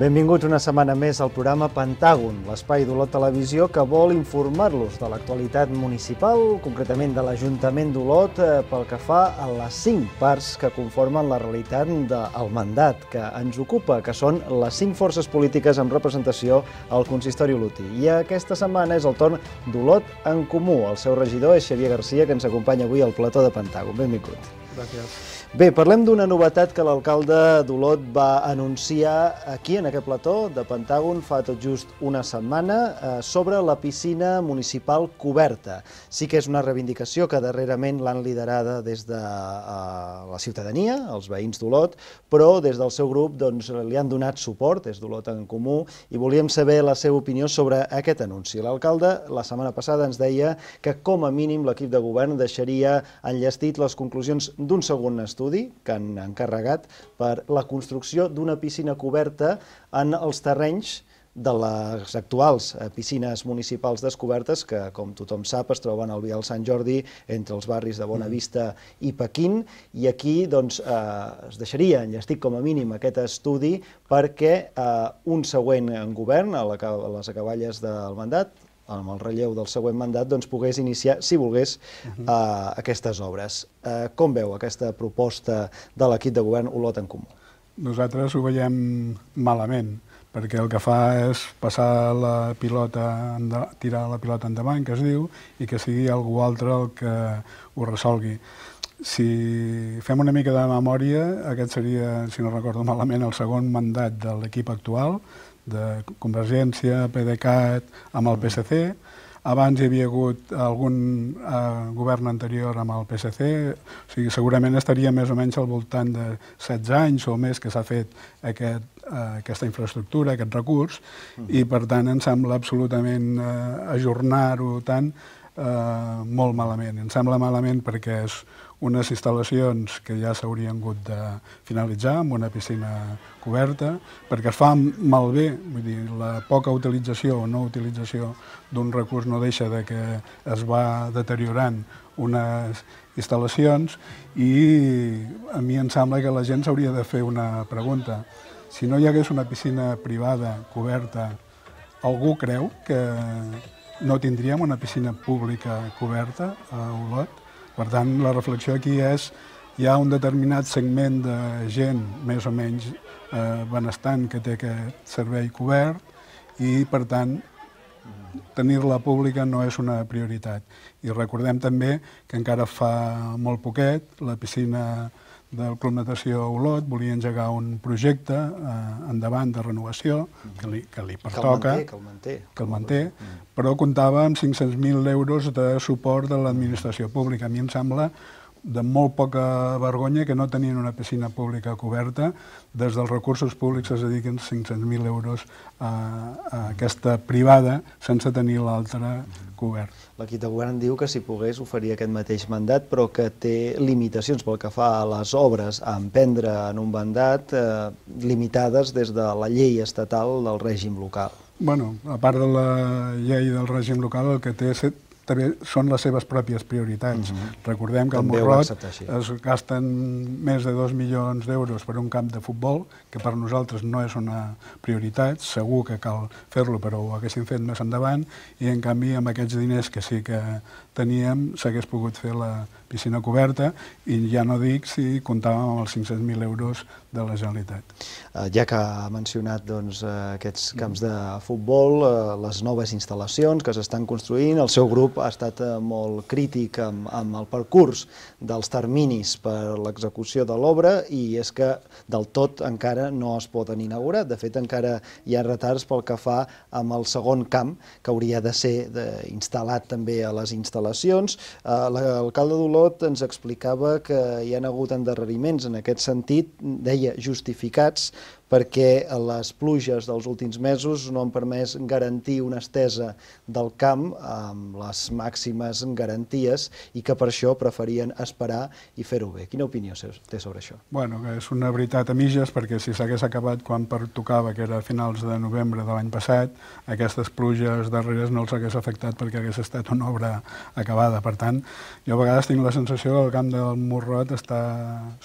Benvinguts una setmana més al programa Pentàgon, l'espai d'Olot Televisió que vol informar-los de l'actualitat municipal, concretament de l'Ajuntament d'Olot, pel que fa a les 5 parts que conformen la realitat del mandat que ens ocupa, que són les 5 forces polítiques amb representació al consistori olotí. I aquesta setmana és el torn d'Olot en Comú. El seu regidor és Xavier Garcia, que ens acompanya avui al plató de Pentàgon. Benvingut. Gràcies. Bé, parlem d'una novetat que l'alcalde d'Olot va anunciar aquí, en aquest plató de Pentàgon, fa tot just una setmana, sobre la piscina municipal coberta. Sí que és una reivindicació que darrerament l'han liderada des de la ciutadania, els veïns d'Olot, però des del seu grup li han donat suport, des d'Olot en Comú, i volíem saber la seva opinió sobre aquest anunci. L'alcalde la setmana passada ens deia que com a mínim l'equip de govern deixaria enllestit les conclusions d'un segon estudi que han encarregat per la construcció d'una piscina coberta en els terrenys de les actuals piscines municipals descobertes que, com tothom sap, es troben al Vial Sant Jordi entre els barris de Bonavista i Pequín, i aquí es deixaria enllestit com a mínim aquest estudi perquè un següent govern, a les acaballes del mandat, amb el relleu del següent mandat, pogués iniciar, si volgués, aquestes obres. Com veu aquesta proposta de l'equip de govern Olot en Comú? Nosaltres ho veiem malament, perquè el que fa és passar la pilota, tirar la pilota endavant, que es diu, i que sigui algú altre el que ho resolgui. Si fem una mica de memòria, aquest seria, si no recordo malament, el segon mandat de l'equip actual, de Convergència, PDeCAT, amb el PSC. Abans hi havia hagut algun govern anterior amb el PSC, o sigui, segurament estaria més o menys al voltant de 16 anys o més que s'ha fet aquesta infraestructura, aquest recurs, i per tant em sembla absolutament ajornar-ho tant molt malament. Em sembla malament perquè és unes instal·lacions que ja s'haurien hagut de finalitzar amb una piscina coberta, perquè es fa malbé, vull dir, la poca utilització o no utilització d'un recurs no deixa de que es va deteriorant unes instal·lacions, i a mi em sembla que la gent s'hauria de fer una pregunta. Si no hi hagués una piscina privada coberta, algú creu que no tindríem una piscina pública coberta a Olot? Per tant, la reflexió aquí és hi ha un determinat segment de gent més o menys benestant que té aquest servei cobert i, per tant, tenir-la pública no és una prioritat. I recordem també que encara fa molt poquet la piscina del Club Natació Olot volia engegar un projecte endavant de renovació que li pertoca, que el manté, però comptava amb 500.000 euros de suport de l'administració pública. A mi em sembla de molt poca vergonya que no tenien una piscina pública coberta. Des dels recursos públics es dediquen 500.000 euros a aquesta privada sense tenir l'altra cobert. L'equip de govern diu que si pogués ho faria aquest mateix mandat, però que té limitacions pel que fa a les obres a emprendre en un mandat limitades des de la llei estatal del règim local. Bueno, a part de la llei del règim local, el que té també són les seves pròpies prioritats. Recordem que al Morrot es gasten més de 2 milions d'euros per un camp de futbol, que per nosaltres no és una prioritat, segur que cal fer-lo, però ho haguéssim fet més endavant, i en canvi amb aquests diners que sí que teníem s'hagués pogut fer la piscina coberta, i ja no dic si comptàvem amb els 500.000 euros de la Generalitat. Ja que ha mencionat aquests camps de futbol, les noves instal·lacions que s'estan construint, el seu grup ha estat molt crític amb el percurs dels terminis per l'execució de l'obra, i és que del tot encara no es poden inaugurar. De fet, encara hi ha retards pel que fa amb el segon camp, que hauria de ser instal·lat també a les instal·lacions. L'alcalde d'Olot ens explicava que hi ha hagut endarreriments en aquest sentit, deia justificats, perquè les pluges dels últims mesos no han permès garantir una estesa del camp amb les màximes garanties i que per això preferien esperar i fer-ho bé. Quina opinió té sobre això? Bueno, és una veritat a mitges, perquè si s'hagués acabat quan pertocava, que era a finals de novembre de l'any passat, aquestes pluges darreres no els hagués afectat perquè hagués estat una obra acabada. Per tant, jo a vegades tinc la sensació que el camp del Morrot està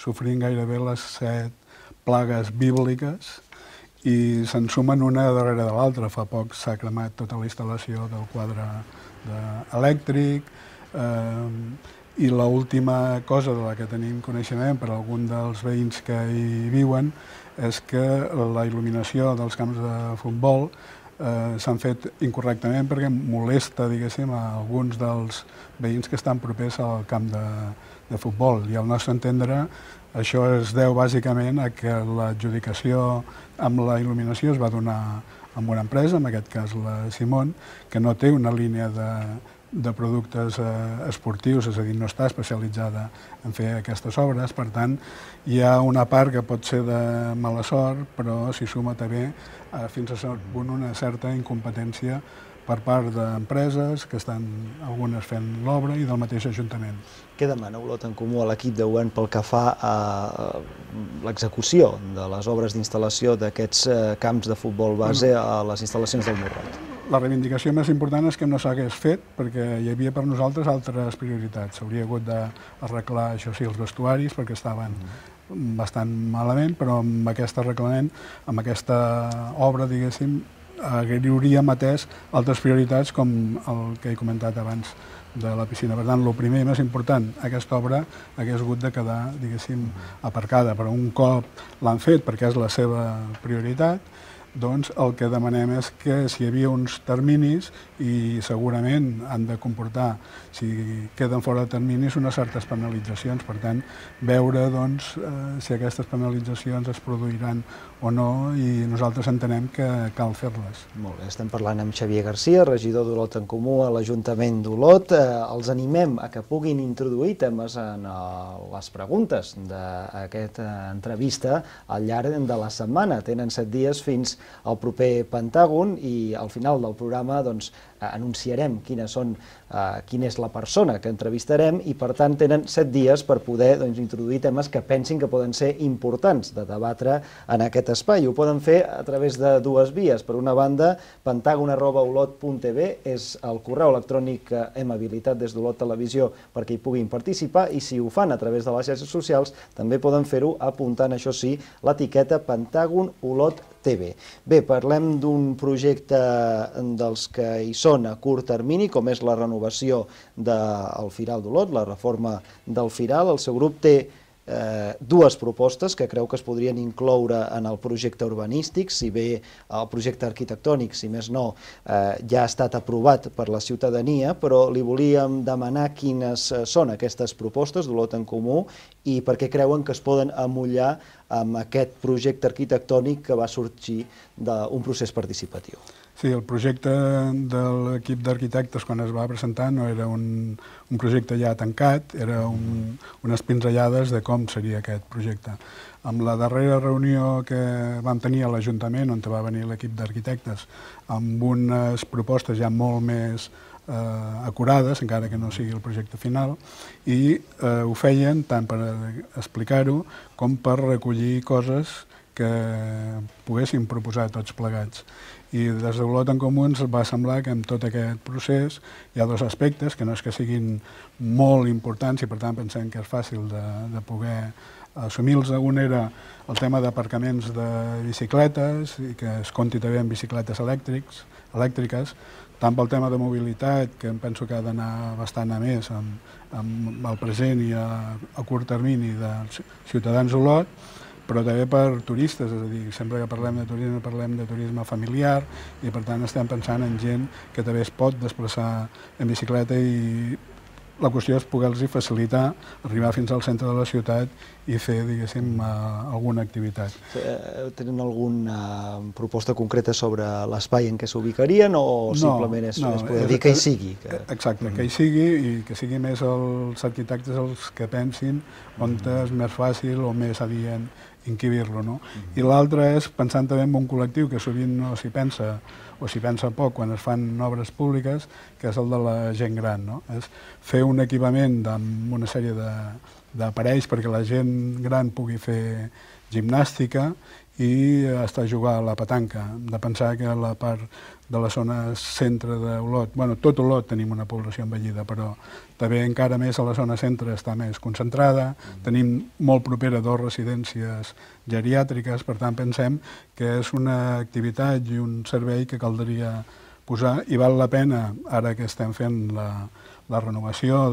sofrint gairebé les 7 plagues bíbliques i se'n sumen una darrere de l'altra. Fa poc s'ha cremat tota la instal·lació del quadre elèctric, i l'última cosa de la que tenim coneixement per algun dels veïns que hi viuen és que la il·luminació dels camps de futbol s'han fet incorrectament perquè molesta, diguéssim, a alguns dels veïns que estan propers al camp de futbol. I al nostre entendre això es deu bàsicament a que l'adjudicació amb la il·luminació es va donar amb una empresa, en aquest cas la Simon, que no té una línia de productes esportius, és a dir, no està especialitzada en fer aquestes obres. Per tant, hi ha una part que pot ser de mala sort, però s'hi suma també fins a cert punt una certa incompetència per part d'empreses que estan algunes fent l'obra i del mateix Ajuntament. Què demana Olot en Comú a l'equip de govern pel que fa a l'execució de les obres d'instal·lació d'aquests camps de futbol base a les instal·lacions del Morrot? La reivindicació més important és que no s'hagués fet perquè hi havia per nosaltres altres prioritats. S'hauria hagut d'arreglar, això sí, els vestuaris perquè estaven bastant malament, però amb aquest arreglament, amb aquesta obra, diguéssim, hauríem atès altres prioritats com el que he comentat abans de la piscina. Per tant, el primer i més important, aquesta obra hagués hagut de quedar, diguéssim, aparcada, però un cop l'han fet perquè és la seva prioritat, doncs el que demanem és que si hi havia uns terminis i segurament han de comportar, si queden fora de terminis, unes certes penalitzacions. Per tant, veure doncs, si aquestes penalitzacions es produiran o no, i nosaltres entenem que cal fer-les. Molt bé, estem parlant amb Xavier Garcia, regidor d'Olot en Comú a l'Ajuntament d'Olot. Els animem a que puguin introduir temes en les preguntes d'aquesta entrevista al llarg de la setmana. Tenen 7 dies fins al proper Pentàgon i al final del programa doncs, anunciarem quina és la persona que entrevistarem i per tant tenen 7 dies per poder introduir temes que pensin que poden ser importants de debatre en aquest espai. Ho poden fer a través de dues vies. Per una banda, pentagon@olot.tv és el correu electrònic que hem habilitat des d'Olot Televisió perquè hi puguin participar, i si ho fan a través de les xarxes socials també poden fer-ho apuntant, això sí, l'etiqueta Pentàgon Olot TV. Bé, parlem d'un projecte dels que hi són a curt termini, com és la renovació del Firal d'Olot, la reforma del Firal. El seu grup té dues propostes que creu que es podrien incloure en el projecte urbanístic, si bé el projecte arquitectònic, si més no, ja ha estat aprovat per la ciutadania, però li volíem demanar quines són aquestes propostes d'Olot en Comú i per què creuen que es poden emmotllar amb aquest projecte arquitectònic que va sorgir d'un procés participatiu. Sí, el projecte de l'equip d'arquitectes quan es va presentar no era un projecte ja tancat, era unes pinzellades de com seria aquest projecte. Amb la darrera reunió que vam tenir a l'Ajuntament, on va venir l'equip d'arquitectes, amb unes propostes ja molt més acurades, encara que no sigui el projecte final, i ho feien tant per explicar-ho com per recollir coses que poguéssim proposar tots plegats. I des d'Olot en Comú ens va semblar que en tot aquest procés hi ha dos aspectes que no és que siguin molt importants i per tant pensem que és fàcil de poder assumir-los. Un era el tema d'aparcaments de bicicletes i que es compti també amb bicicletes elèctriques, tant pel tema de mobilitat, que em penso que ha d'anar bastant a més amb el present i a curt termini dels ciutadans d'Olot, però també per turistes, és a dir, sempre que parlem de turisme familiar i per tant estem pensant en gent que també es pot desplaçar en bicicleta i la qüestió és poder-los facilitar arribar fins al centre de la ciutat i fer, diguéssim, alguna activitat. Tenen alguna proposta concreta sobre l'espai en què s'ubicarien o simplement és poder dir que hi sigui? Exacte, que hi sigui i que sigui més els arquitectes els que pensin on és més fàcil o més adient encabir-lo, no? I l'altre és pensant també en un col·lectiu que sovint no s'hi pensa o s'hi pensa poc quan es fan obres públiques, que és el de la gent gran, no? És fer un equipament amb una sèrie d'aparells perquè la gent gran pugui fer gimnàstica i està a jugar a la petanca. Hem de pensar que la part de la zona centre d'Olot, bueno, tot Olot tenim una població envellida, però també encara més a la zona centre està més concentrada, tenim molt propera 2 residències geriàtriques, per tant pensem que és una activitat i un servei que caldria posar i val la pena, ara que estem fent la renovació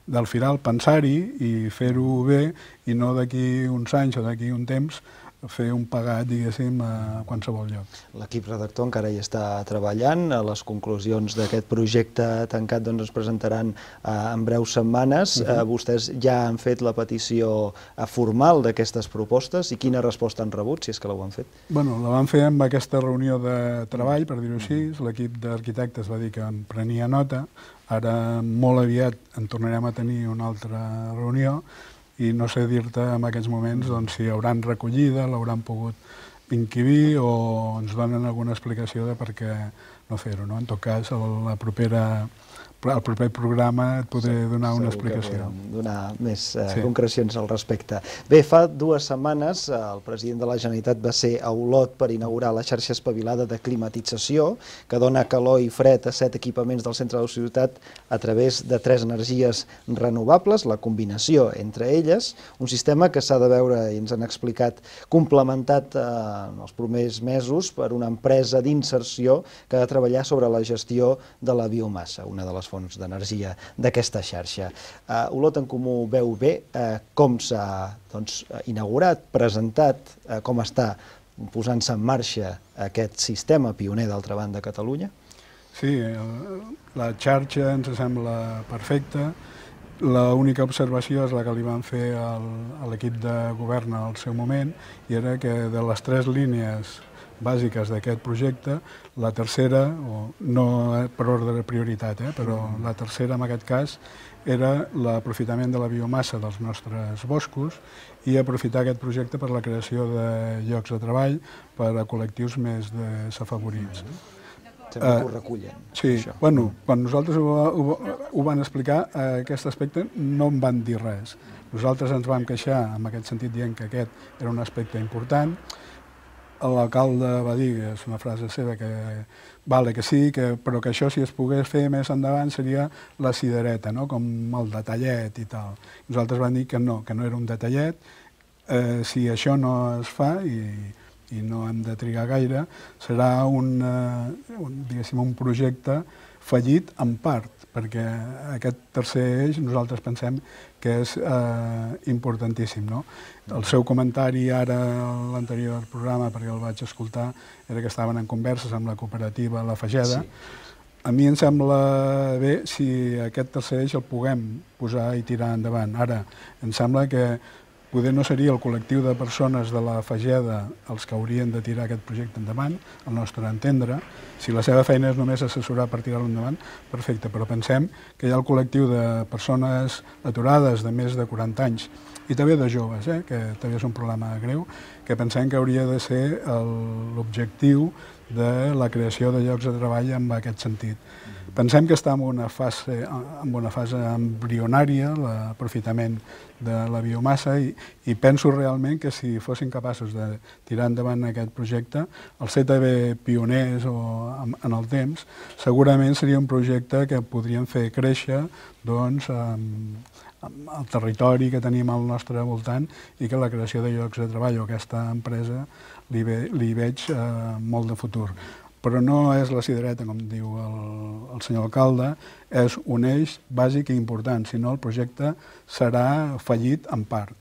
del Firal, pensar-hi i fer-ho bé i no d'aquí uns anys o d'aquí un temps fer un pagat, diguéssim, a qualsevol lloc. L'equip redactor encara hi està treballant. Les conclusions d'aquest projecte tancat es presentaran en breus setmanes. Vostès ja han fet la petició formal d'aquestes propostes i quina resposta han rebut, si és que l'ho han fet? Bueno, la vam fer amb aquesta reunió de treball, per dir-ho així. L'equip d'arquitectes va dir que en prenia nota. Ara, molt aviat, en tornarem a tenir una altra reunió i no sé dir-te en aquests moments si hauran recollida, l'hauran pogut inquibir o ens donen alguna explicació de per què no fer-ho. En tot cas, el proper programa et podré donar una explicació. Donar més concrecions al respecte. Bé, fa 2 setmanes el president de la Generalitat va ser a Olot per inaugurar la xarxa espavilada de climatització que dona calor i fred a 7 equipaments del centre de la ciutat a través de 3 energies renovables, la combinació entre elles, un sistema que s'ha de veure, i ens han explicat, complementat en els primers mesos per una empresa d'inserció que ha de treballar sobre la gestió de la biomassa, una de les fonts d'energia d'aquesta xarxa. Olot en Comú veu bé com s'ha inaugurat, presentat, com està posant-se en marxa aquest sistema pioner d'altra banda a Catalunya? Sí, la xarxa ens sembla perfecta. L'única observació és la que li van fer a l'equip de govern al seu moment i era que de les 3 línies bàsiques d'aquest projecte, la tercera, no per ordre de prioritat, però la tercera en aquest cas era l'aprofitament de la biomassa dels nostres boscos i aprofitar aquest projecte per la creació de llocs de treball per a col·lectius més desafavorits. Sempre que ho recullen. Sí, bueno, quan nosaltres ho van explicar, aquest aspecte no en van dir res. Nosaltres ens vam queixar en aquest sentit dient que aquest era un aspecte important. L'alcalde va dir, és una frase seva, que vale que sí, però que això si es pogués fer més endavant seria la cidereta, com el detallet i tal. Nosaltres vam dir que no era un detallet. Si això no es fa, i no hem de trigar gaire, serà un projecte fallit en part, perquè aquest tercer eix nosaltres pensem que és importantíssim. El seu comentari ara a l'anterior programa, perquè el vaig escoltar, era que estaven en converses amb la cooperativa La Fageda. A mi em sembla bé si aquest tercer eix el puguem posar i tirar endavant. Ara, em sembla que poder no seria el col·lectiu de persones de la Fageda els que haurien de tirar aquest projecte endavant, al nostre entendre. Si la seva feina és només assessorar per tirar-lo endavant, perfecte, però pensem que hi ha el col·lectiu de persones aturades de més de 40 anys i també de joves, que també és un problema greu, que pensem que hauria de ser l'objectiu de la creació de llocs de treball en aquest sentit. Pensem que està en una fase embrionària, l'aprofitament de la biomassa, i penso realment que si fossin capaços de tirar endavant aquest projecte, el ser també pioners en el temps, segurament seria un projecte que podríem fer créixer el territori que tenim al nostre voltant i que la creació de llocs de treball o aquesta empresa li veig molt de futur. Però no és la cidereta, com diu el senyor alcalde, és un eix bàsic i important, si no el projecte serà fallit en part.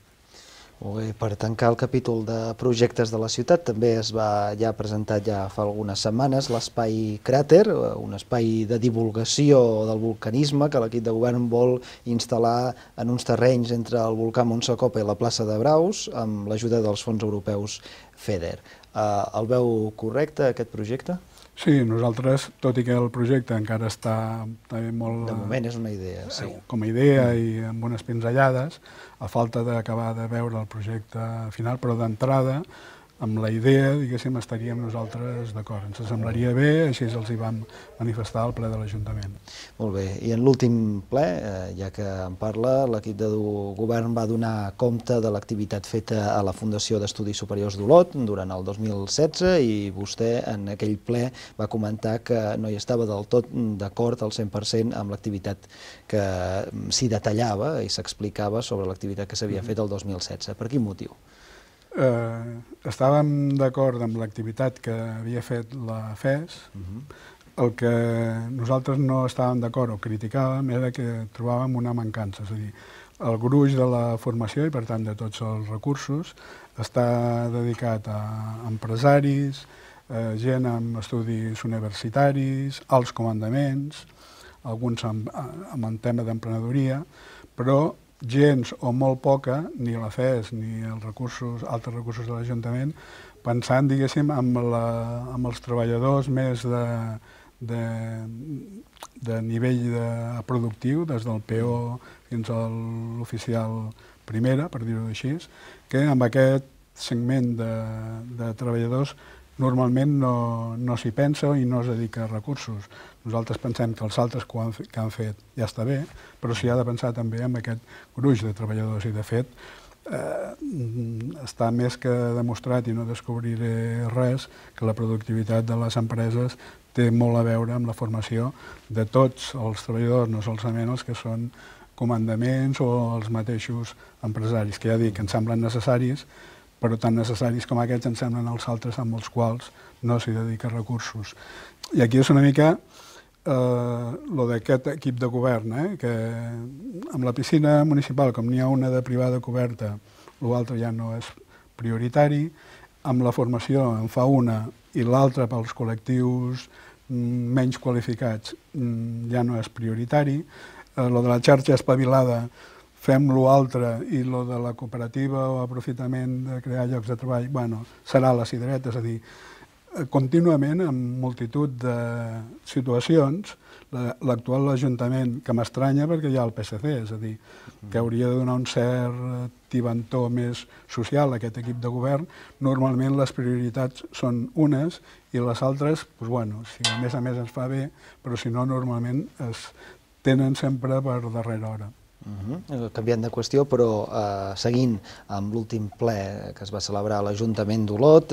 Molt bé, per tancar el capítol de projectes de la ciutat, també es va presentat ja fa algunes setmanes l'espai Cràter, un espai de divulgació del vulcanisme que l'equip de govern vol instal·lar en uns terrenys entre el volcà Montsecopa i la plaça de Braus amb l'ajuda dels fons europeus FEDER. El veu correcte, aquest projecte? Sí, nosaltres, tot i que el projecte encara està també molt... De moment és una idea, sí. Com a idea i amb unes pinzellades, a falta d'acabar de veure el projecte final, però d'entrada amb la idea, diguéssim, estaríem nosaltres d'acord. Ens semblaria bé, així els hi vam manifestar al ple de l'Ajuntament. Molt bé, i en l'últim ple, ja que en parla, l'equip de govern va donar compte de l'activitat feta a la Fundació d'Estudis Superiors d'Olot durant el 2016 i vostè en aquell ple va comentar que no hi estava del tot d'acord al 100% amb l'activitat que s'hi detallava i s'explicava sobre l'activitat que s'havia fet el 2016. Per quin motiu? Estàvem d'acord amb l'activitat que havia fet la FES. El que nosaltres no estàvem d'acord o criticàvem era que trobàvem una mancança, és a dir, el gruix de la formació i per tant de tots els recursos està dedicat a empresaris, gent amb estudis universitaris, alts comandaments, alguns amb el tema d'emprenedoria, però gens o molt poca, ni la FES ni els altres recursos de l'Ajuntament, pensant, diguéssim, amb els treballadors més de nivell productiu, des del PO fins a l'oficial primera, per dir-ho així, que amb aquest segment de treballadors normalment no s'hi pensa i no es dedica a recursos. Nosaltres pensem que els altres que han fet ja està bé, però s'hi ha de pensar també en aquest gruix de treballadors i, de fet, està més que demostrat, i no descobriré res, que la productivitat de les empreses té molt a veure amb la formació de tots els treballadors, no solament els que són comandaments o els mateixos empresaris, que ja dic que ens semblen necessaris, però tan necessaris com aquests ens semblen els altres amb els quals no s'hi dedica recursos. I aquí és una mica lo d'aquest equip de govern, que amb la piscina municipal, com n'hi ha una de privada coberta, l'altre ja no és prioritari, amb la formació en fa una i l'altra pels col·lectius menys qualificats ja no és prioritari, lo de la xarxa espavilada fem l'altre i lo de la cooperativa o aprofitament de crear llocs de treball, bueno, serà la cirereta, és a dir, contínuament, en multitud de situacions, l'actual Ajuntament, que m'estranya perquè hi ha el PSC, és a dir, que hauria de donar un cert tibantó més social a aquest equip de govern, normalment les prioritats són unes i les altres, doncs, bueno, si a més ens fa bé, però si no, normalment es tenen sempre per darrera hora. Canviant de qüestió, però seguint amb l'últim ple que es va celebrar a l'Ajuntament d'Olot,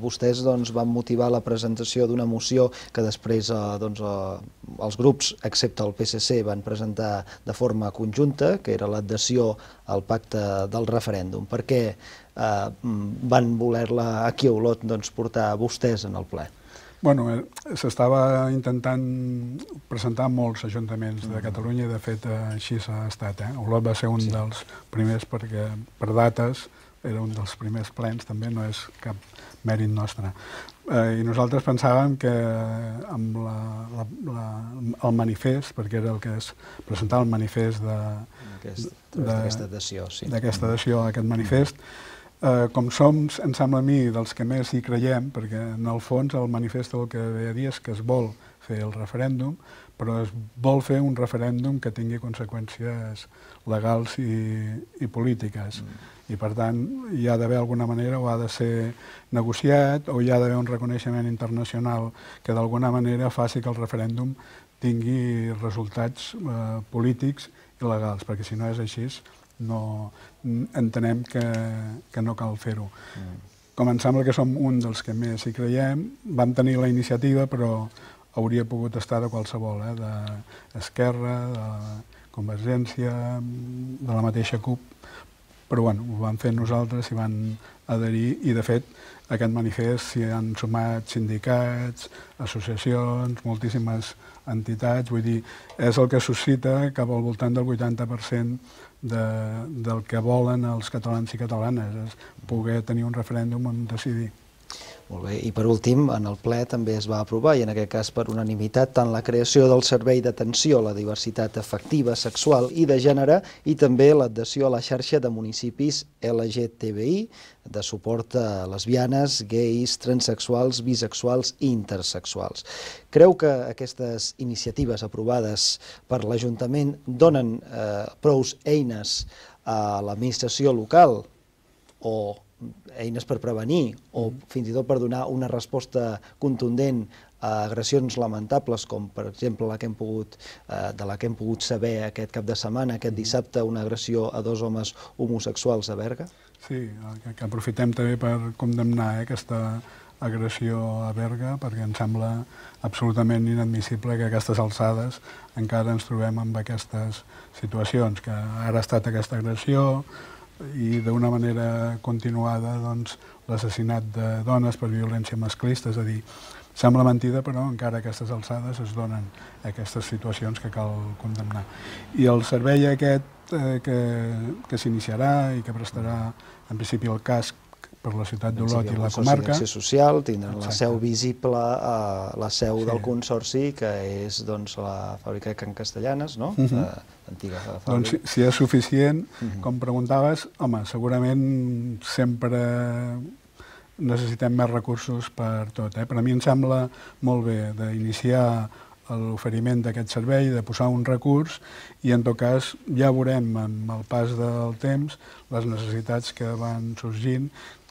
vostès van motivar la presentació d'una moció que després els grups, excepte el PSC, van presentar de forma conjunta, que era l'adhesió al pacte del referèndum. Per què van voler-la aquí a Olot portar vostès en el ple? Bueno, s'estava intentant presentar molts ajuntaments de Catalunya i, de fet, així s'ha estat. Olot va ser un dels primers perquè, per dates, era un dels primers plens, també no és cap mèrit nostre. I nosaltres pensàvem que amb el manifest, perquè era el que es presentava el manifest d'aquesta adhesió, a aquest manifest, com som, em sembla a mi, dels que més hi creiem, perquè en el fons el manifest el que ve a dir és que es vol fer el referèndum, però es vol fer un referèndum que tingui conseqüències legals i polítiques. I, per tant, hi ha d'haver alguna manera, o ha de ser negociat, o hi ha d'haver un reconeixement internacional que d'alguna manera faci que el referèndum tingui resultats polítics i legals, perquè si no és així, no entenem que no cal fer-ho. Com em sembla que som un dels que més hi creiem, vam tenir la iniciativa, però hauria pogut estar de qualsevol, d'Esquerra, de Convergència, de la mateixa CUP, però bueno, ho vam fer nosaltres, s'hi van adherir i, de fet, a aquest manifest s'hi han sumat sindicats, associacions, moltíssimes entitats, vull dir, és el que suscita cap al voltant del 80% del que volen els catalans i catalanes, és poder tenir un referèndum on decidir. Molt bé, i per últim, en el ple també es va aprovar, i en aquest cas per unanimitat, tant la creació del Servei d'Atenció a la Diversitat Afectiva, Sexual i de Gènere i també l'adhesió a la xarxa de municipis LGTBI de suport a lesbianes, gais, transexuals, bisexuals i intersexuals. Creu que aquestes iniciatives aprovades per l'Ajuntament donen prous eines a l'administració local o eines per prevenir o fins i tot per donar una resposta contundent a agressions lamentables, com per exemple de la que hem pogut saber aquest cap de setmana, aquest dissabte, una agressió a 2 homes homosexuals a Berga? Sí, que aprofitem també per condemnar aquesta agressió a Berga, perquè em sembla absolutament inadmissible que a aquestes alçades encara ens trobem amb aquestes situacions, que ara ha estat aquesta agressió i d'una manera continuada l'assassinat de dones per violència masclista, és a dir, sembla mentida, però encara a aquestes alçades es donen aquestes situacions que cal condemnar. I el servei aquest que s'iniciarà i que prestarà en principi el casc per la ciutat d'Olot i la comarca. El Consorci d'Acció Social tindran la seu visible a la seu del Consorci, que és la fàbrica de Can Castellanes, no? L'antiga fàbrica. Doncs si és suficient, com preguntaves, home, segurament sempre necessitem més recursos per tot. Per a mi em sembla molt bé d'iniciar l'oferiment d'aquest servei, de posar un recurs i en tot cas ja veurem amb el pas del temps les necessitats que van sorgint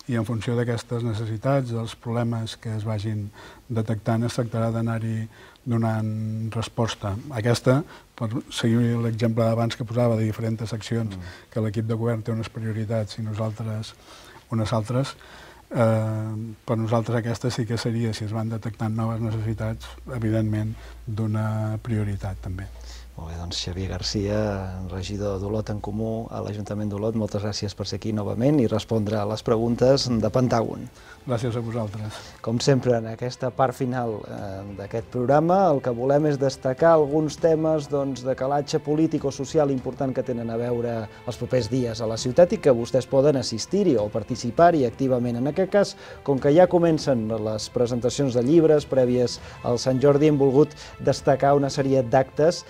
i en funció d'aquestes necessitats, dels problemes que es vagin detectant, es tractarà d'anar-hi donant resposta. Aquesta, per seguir l'exemple d'abans que posava de diferents seccions, que l'equip de govern té unes prioritats i nosaltres unes altres, per nosaltres aquesta sí que seria, si es van detectant noves necessitats, evidentment d'una prioritat també. Molt bé, doncs Xavier Garcia, regidor d'Olot en Comú a l'Ajuntament d'Olot, moltes gràcies per ser aquí novament i respondre a les preguntes de Pentàgon. Gràcies a vosaltres. Com sempre, en aquesta part final d'aquest programa, el que volem és destacar alguns temes de calatge polític o social important que tenen a veure els propers dies a la ciutat i que vostès poden assistir-hi o participar-hi activament. En aquest cas, com que ja comencen les presentacions de llibres prèvies al Sant Jordi, hem volgut destacar una sèrie d'actes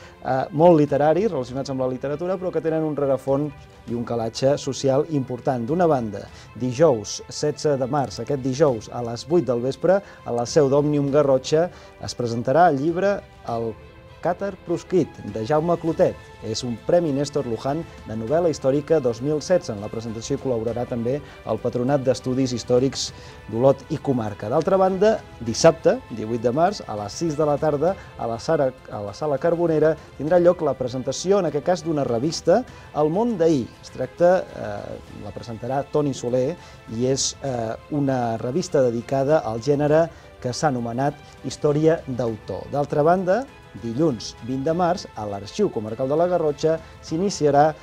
molt literaris, relacionats amb la literatura, però que tenen un rerefons i un calatge social important. D'una banda, dijous 16 de març, aquest dijous a les 8 del vespre, a la seu d'Òmnium Garrotxa, es presentarà el llibre El Càtar proscrit, de Jaume Clotet. És un Premi Néstor Luján de novel·la històrica 2016. En la presentació hi col·laborarà també el Patronat d'Estudis Històrics d'Olot i Comarca. D'altra banda, dissabte, 18 de març, a les 6 de la tarda, a la Sala Carbonera, tindrà lloc la presentació, en aquest cas, d'una revista, El món d'ahir. Es tracta, la presentarà Toni Soler, i és una revista dedicada al gènere que s'ha anomenat Història d'autor. D'altra banda, dilluns 20 de març, a l'Arxiu Comarcal de la Garrotxa, s'iniciarà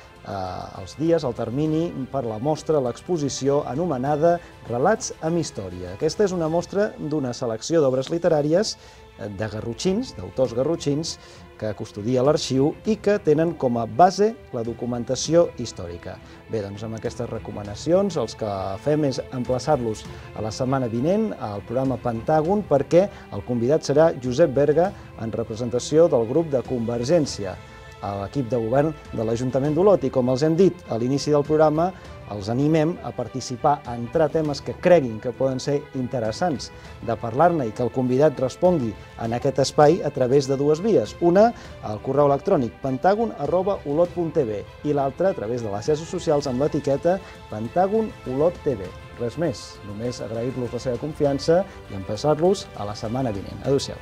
els dies, el termini per la mostra, l'exposició anomenada Relats amb història. Aquesta és una mostra d'una selecció d'obres literàries de garrotxins, d'autors garrotxins, que custodia l'arxiu i que tenen com a base la documentació històrica. Bé, doncs amb aquestes recomanacions els que fem és emplaçar-los a la setmana vinent al programa Pentàgon, perquè el convidat serà Josep Berga en representació del grup de Convergència a l'equip de govern de l'Ajuntament d'Olot. I com els hem dit a l'inici del programa, els animem a participar, a entrar temes que creguin que poden ser interessants de parlar-ne i que el convidat respongui en aquest espai a través de dues vies. Una, al correu electrònic pentagon@olot.tv i l'altra a través de les xarxes socials amb l'etiqueta pentagonolottv. Res més, només agrair-los la seva confiança i emplaçar-los a la setmana vinent. Adéu-siau.